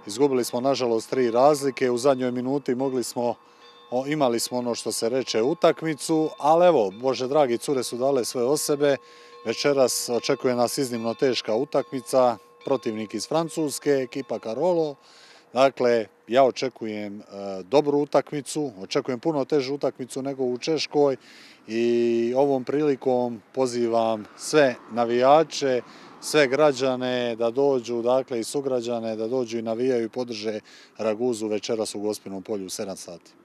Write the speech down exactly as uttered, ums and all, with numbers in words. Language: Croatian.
Izgubili smo nažalost tri razlike, u zadnjoj minuti mogli smo, imali smo ono što se reče utakmicu, ali evo, Bože dragi, cure su dale sve od sebe. Večeras očekuje nas iznimno teška utakmica, protivnik iz Francuske, ekipa Carolo. Dakle, ja očekujem dobru utakmicu, očekujem puno težu utakmicu nego u Češkoj i ovom prilikom pozivam sve navijače, sve građane da dođu, dakle i sugrađane da dođu i navijaju i podrže Raguzu večeras u Gospinom polju u sedam sati.